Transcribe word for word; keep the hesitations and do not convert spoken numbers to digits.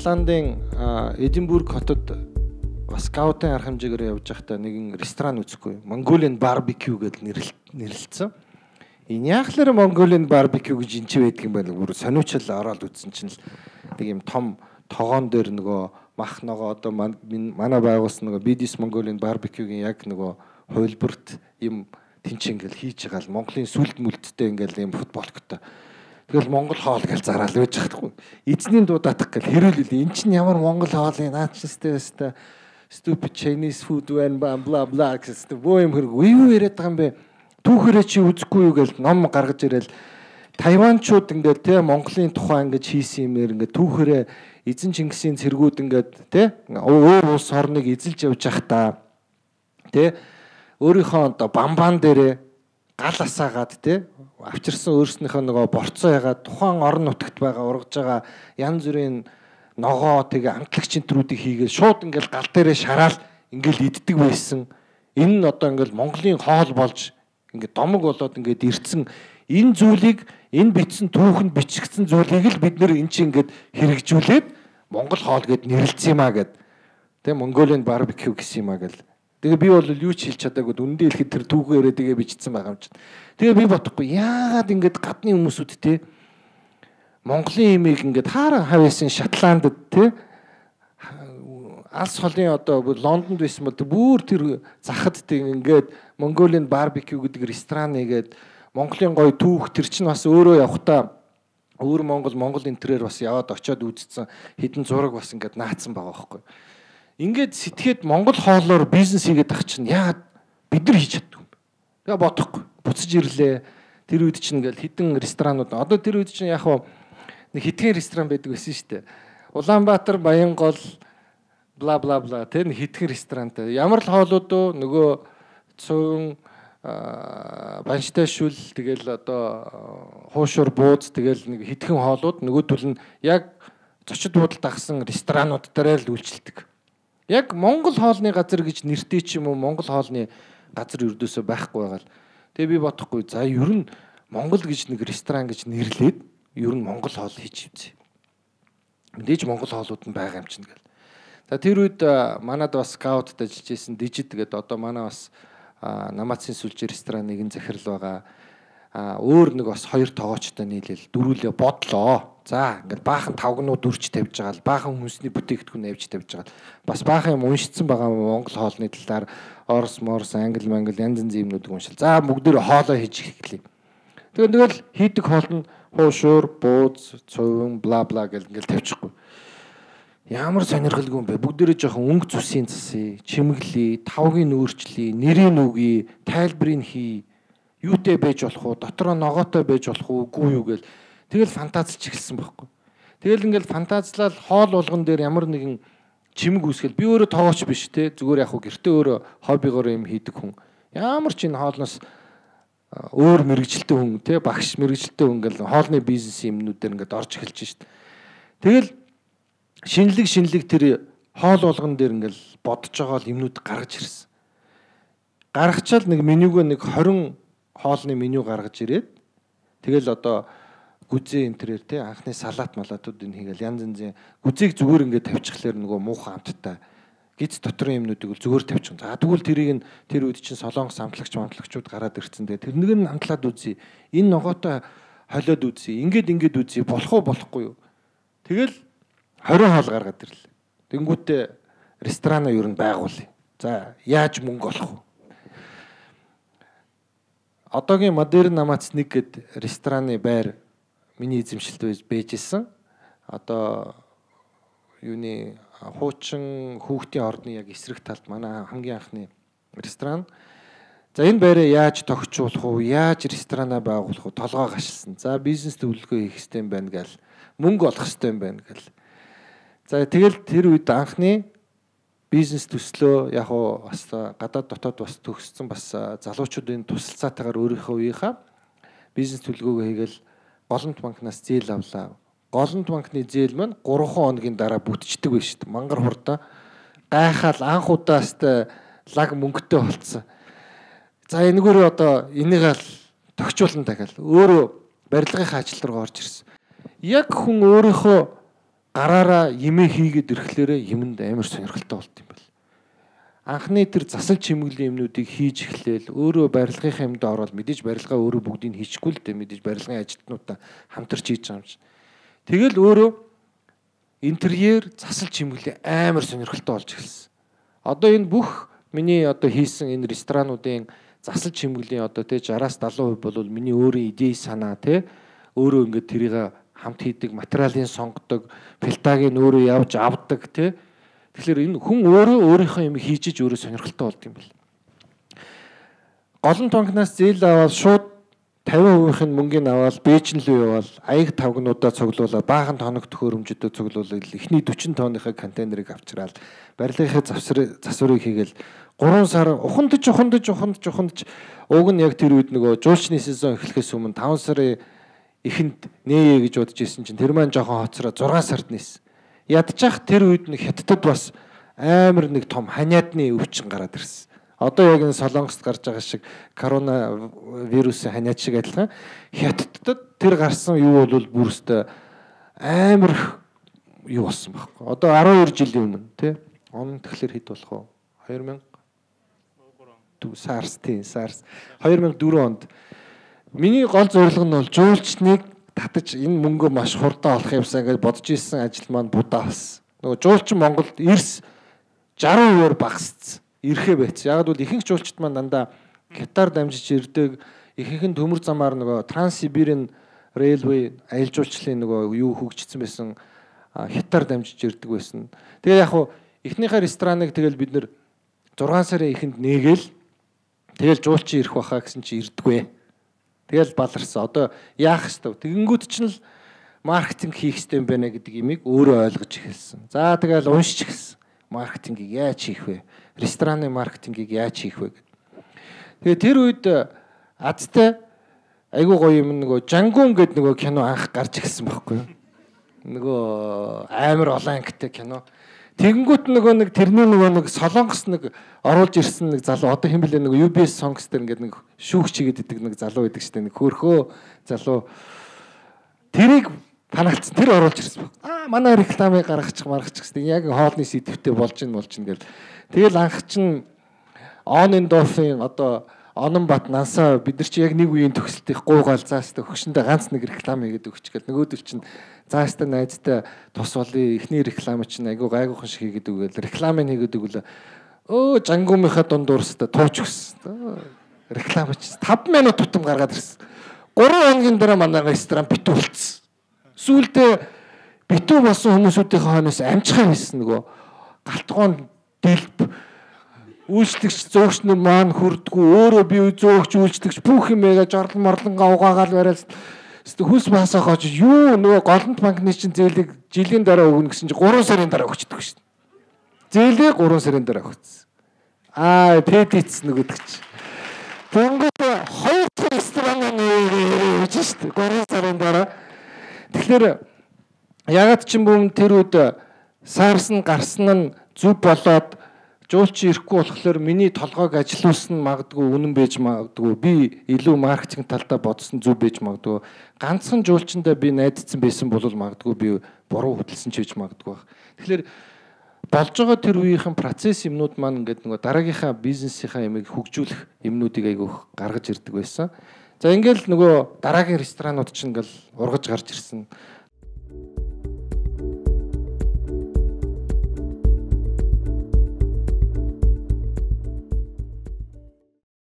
Шотландын Эдинбург хотод бас скаутын арга хэмжээгээр явж байхдаа нэгэн ресторан үзэхгүй. Mongolian barbecue гэдэг нэрлэлсэн. Энэ яахлаар Mongolian barbecue гэж энэ ч байдаг юм байна. Бүр сониучл ороод үзсэн чинь л нэг юм том тогоон дээр нөгөө мах ногоо одоо манай байгуулсан нөгөө Bidis Mongolian barbecue-гийн яг нөгөө хувилбарт юм тэнцэн ингээл хийж байгаа л Монголын сүлд мүлдтэй ингээл юм футболктой. Тэгэл Монгол хоол гэж зараал байж чадахгүй. Эзний дуудаах гэл хэрүүлэл энэ чинь ямар Монгол хоолын наачстай өстэй stupid Chinese food when blah blah blah гэсэн боо юм хэрэг юу яриад байгаа юм бэ? Түүхээрээ чи үзэхгүй юу гэл ном гаргаж ирэл Тайванчууд ингээд те Монголын тухай ингээд хийсэн юмэр ингээд түүхээрээ эзэн Чингисийн цэргүүд ингээд те өөр улс орныг эзэлж явж явах та те өөрийнхөө одоо бамбан дээрээ гал асаагаад те авчирсан өөрснийхөө нөгөө борцоо ягаад тухайн орон нутагт байгаа ургаж байгаа янз бүрийн ногоо тэгээ амтлагч энтрүүдийг хийгээд шууд ингээл гал дээрээ шараал ингээл иддэг байсан. Энэ нь одоо ингээл Монголын хоол болж ингээд домог болоод ингээд ирцэн энэ зүйлийг энэ бичсэн түүхэнд бичигдсэн зүйлийг л бид нэр эн чинь ингээд хэрэгжүүлээд Монгол хоол гэд нэрлэлсэн юм а гэд тэ Mongolian barbecue гэсэн юм а гэл. Тэгээ би бол юу ч хэлж чадаагүй үндэ хэлэхэд тэр түүхээрээ тэгээ бичсэн байгаа юм чинь. Тэгээ би бодохгүй яагаад ингээд гадны хүмүүсүүд те Монголын имийг ингээд хааран хавьяасан Шотландд те алс холын одоо Лондонд байсан бол бүр тэр захад тэг ингээд Mongolian barbecue гэдэг ресторан нэгээд Монголын гоё түүх тэр чинь бас өөрөө явахтаа өөр Монгол Монгол энтрээр бас яваад очиод үзсэн хідэн зураг бас ингээд наацсан байгаа байхгүй. Ингээд сэтгээд Монгол хоолоор бизнес хийгээд ах чинь яагаад бид нар хийж чаддаг юм бэ? Тэгээ бодохгүй. Буцаж ирлээ. Тэр үед чинь ингээл хідэн ресторанууд одоо тэр үед чинь яг хаа нэг хитгэн ресторан байдаг байсан шүү дээ. Улаанбаатар, Баянгол бла бла бла тэр нэг хитгэн ресторантай. Ямар л хоолууд уу нөгөө цөөн банштай шүл тэгэл одоо хуушур бууз тэгэл нэг хитгэн хоолууд нөгөөдөл нь яг зочид буудалд агсан ресторанууд дээр л үйлчилдэг. Яг Монгол хоолны газар гэж нэртэй ч юм уу Монгол хоолны газар ердөөсөө байхгүй байгаа л. Тэгээ би бодохгүй за ер нь Монгол гэж нэг ресторан гэж нэрлээд ер нь Монгол хоол хийж үзье. Мэдээж Монгол хоолууд нь байгаа юм чинь гэл. За тэр үед манад бас скаутд ажиллаж исэн Дижид гэдэг одоо манай бас Намацын сүлжээ ресторан нэгэн захирал байгаа. Өөр нэг бас хоёр тоогоочтой нийлээл дөрүүлээ бодлоо. За ингээд баахан тавгнууд үрж тавьж байгаа л баахан хүнсний бүтээгдэхүүн авьж тавьж байгаа. Бас баахан юм уншицсан байгаа Монгол хоолны талаар Орос, Морс, Англи, Монгол янз янзын юмнуудыг уншил. За бүгдээр хоолоо хийж эхлэе. Тэгээд тэгэл хийдэг хоол нь хуушур, бууз, цувин, бла бла гэл ингээл тавьчихгүй. Ямар сонирхолгүй юм бэ? Бүгдээрээ жоохон өнгө зүсийн засъя, чимэглэе, тавгийн өөрчлөе, нэрийн үгий, тайлбарыг хий. Юутэй байж болох уу? Дотроо ногоотой байж болох уу? Үгүй юу гэл. Тэгэл фантазлж эхэлсэн байхгүй. Тэгэл ингээл фантазлал хоол болгон дээр ямар нэгэн чимэг үүсгэл би өөрөө тоогооч биш те зүгээр яг хуу гэртээ өөрөө хоббигоор юм хийдэг хүн. Ямар ч энэ хоолноос өөр мэрэгжилтэй хүн те багш мэрэгжилтэй хүн ингээл хоолны бизнес юмнууд дээр ингээд орж эхэлж шít. Тэгэл шинэлэг шинэлэг тэр хоол болгон дээр ингээл бодож байгаа л юмнууд гаргаж ирсэн. Гаргачаал нэг менюг нэг хорин хоолны меню гаргаж ирээд тэгэл одоо гүзээ энтрээр те анхны салат малатуудыг хийгээл янз янзын гүзээг зүгээр ингээд тавьчихлаар нөгөө муухан амттай гиз дотрын юмнуудыг зүгээр тавьчих. За тэгвэл тэрийг нь тэр үед чинь солонгос амтлагч амтлагчуд гараад ирсэн. Тэгээ тэрнийг нь амтлаад үзье. Энэ ногоотой холиод үзье. Ингээд ингээд үзье. Болох уу болохгүй юу? Тэгэл хорин хоол гаргаад ирлээ. Тэнгүүтээ ресторанаа юу н байгуулъя. За яаж мөнгө олох вэ? Одоогийн модерн Намац нэг гэд рестораны байр миний эзэмшилд байж исэн. Одоо юуны хуучин хүүхдийн орны яг эсрэг талд манай хамгийн анхны ресторан. За энэ байраа яаж тогтчуулах вэ? Яаж ресторанаа байгуулах вэ? Толгой гашилсан. За бизнес төлөвлөгөө хийх хэрэгтэй юм байна гэл. Мөнгө олох хэрэгтэй юм байна гэл. За тэгэл тэр үед анхны бизнес төслөө яг уу бас гадаад дотоод бас төгссөн бас залуучуудын тусалцаатайгаар өөрийнхөө үеийнхаа бизнес төлөвлөгөөгөө хийгээл Голомт банкнаас зээл авлаа. Голомт банкны зээл маань гурван хоногийн дараа бүтчихдэг байж шүү дээ. Мангар хурдаа гайхаал анх удаастай лаг мөнгөтэй болцсон. За энэгээр одоо энийг л тогтчуулна дахиад өөрөө барилгын ажил руу орж ирсэн. Яг хүн өөрийнхөө гараараа имээ хийгээд ирэхлээрээ юмд амар сонирхолтой болт юм байна. Анхны тэр засал чимэглэлийн юмнуудыг хийж эхлээл өөрөө барилгынхаа юмд ороод мэдээж барилгаа өөрөө бүгдийг хийчихгүй л дээ, мэдээж барилгын ажилтнуудаа хамтарч хийж байгаа юм чинь. Тэгэл өөрөө интерьер засал чимэглэл амар сонирхолтой болж эхэлсэн. Одоо энэ бүх миний одоо хийсэн энэ ресторануудын засал чимэглэлийн одоо тэ шестьдесят70% бол миний өөрийн идей санаа тэ өөрөө ингээд тэрийг хамт хийдэг, материалын сонгодог, пилтагийг өөрөө явж авдаг тэ. Тэгэхээр энэ хүн өөрөө өөрийнхөө юм хийж иж өөрөө сонирхолтой болд юм бэл. Голон тонкнаас зээл аваад шууд тавин хувийн мөнгөний аваад Бээжин рүү явал аяг тавгнуудаа цуглуулаад баахан тоног төхөөрөмжөдөө цуглуулаад эхний сорок тонныхаа контейнерыг авчираад барилгынхаа засварыг хийгээл гурван сар ухандж ухандж ухандж ухандж уг нь яг тэр үед нөгөө жуулчны сезон эхлэхээс өмнө таван сарын эхэнд нээе гэж бодож ирсэн чинь тэр маань жоохон хоцроо зургаан сард нээсэн. Ядчих тэр үед нэг Хятадд бас амар нэг том ханиадны өвчин гараад ирсэн. Одоо яг энэ Солонгост гарч байгаа шиг корона вирусын ханиад шиг адилхан Хятадд тэр гарсан юу бол бүрстэ амар юу болсон байхгүй. Одоо арван хоёр жилийн өмнө тий. Он тэгэхээр хэд болох вэ? хоёр мянга SARS тий SARS хоёр мянга дөрөв онд миний гол зорилго нь бол жуулчныг татаж энэ мөнгөө маш хурдан олох юмсаа гэж бодож ирсэн ажил маань будаа болсон. Нөгөө жуулчин Монголд эрс сixty хувиар багасцсан. Ирэхээ байц. Яг бол ихэнх жуулчид маань дандаа Катар дамжиж ирдэг. Ихэнх нь төмөр замаар нөгөө Транссибирийн Railway аялал жуулчлалын нөгөө юу хөгжсөн байсан Хятаар дамжиж ирдэг байсан. Тэгээ яг хуу эхнийхээ рестораныг тэгэл бид нэр зургаан сарын эхэнд нээгээл тэгэл жуулчин ирэх баха гэсэн чи ирдэггүй. Тэгэл баларсан. Одоо яах ёстой. Тэгэнгүүт ч л маркетинг хийх ёстой юм байна гэдэг имийг өөрөө ойлгож эхэлсэн. За тэгэл уншиж эхэлсэн. Маркетингийг яаж хийх вэ? Рестораны маркетингийг яаж хийх вэ гэдэг. Тэгээ тэр үед Азтай айгуу гоё юм нөгөө Жангун гэдэг нөгөө кино анх гарч эхэлсэн байхгүй юу? Нөгөө амар олон ангитай кино. Тэгэнгүүт нөгөө нэг тэрний нөгөө нэг Солонгос нэг оруулж ирсэн нэг залуу одоо хэн блэ нөгөө ю би эс Songs дээр ингээд нэг шүүгч хийгээд идэг нэг залуу байдаг штэ нэг хөөрхөө залуу тэрийг фанаалцсан тэр оруулж ирсэн баг. Аа манай рекламыг гаргачих маргачих гэсэн яг хоолны сэдвтэй болж ин болж ин гэл. Тэгэл анх чин On Endorphin одоо Ононбат Нансаа бид нар чи яг нэг үеийн төгсөлтийн гуйгаал заастаа хөгшөндөө ганц нэг реклам хийгээд өгч гэл нөгөөдөл чин заастаа найзтай тус болын эхний реклам чинь айгу гайгуухан шиг хийгээд өгөөл рекламыг хийгээд өгөл өө Жангумынхаа дунд уурстаа тууч өгсөн. Реклам чинь five минут тутам гаргаад ирсэн. Гурван хоногийн дараа манай ресторан битүү болцсон. Сүүлдээ битүү болсон хүмүүсүүдийн хойноос амжихаа хийсэн нөгөө галтгоон дэлб үйлчлэгч зөөгчнөр маань хүрдгүү өөрөө би зөөгч үйлчлэгч бүх юмээ жорлон морлонгаа угаагаал бариад хүс басаа хооч юу нөгөө голонт банкны чинь зээлийг жилийн дараа өгнө гэсэн чинь three сарын дараа өгчдөг шин. Зээлээ three сарын дараа өгсөн. Аа тэтэц нөгөөдөг чи. Тэнгүүд хоёр ресторан нээж шин three сарын дараа. Тэгэхээр ягаад ч юм бүүм тэр үед SARS нь гарсан нь зүв болоод жуулчин ирэхгүй болохоор миний толгойг ажилуулсан магадгүй үнэн байж магадгүй би илүү маркетинг талдаа бодсон зүв байж магадгүй ганцхан жуулчиндаа би найдсан байсан бол магадгүй би буруу хөдөлсөн ч гэж магадгүй баг. Тэгэхээр болж байгаа тэр үеийнхэн процесс юмнууд маань ингээд нөгөө дараагийнхаа бизнесийнхаа ямиг хөгжүүлэх юмнуудыг айгүйх гаргаж ирдэг байсан. За ингээл нөгөө дараагийн ресторанууд ч ингээл ургаж гарч ирсэн.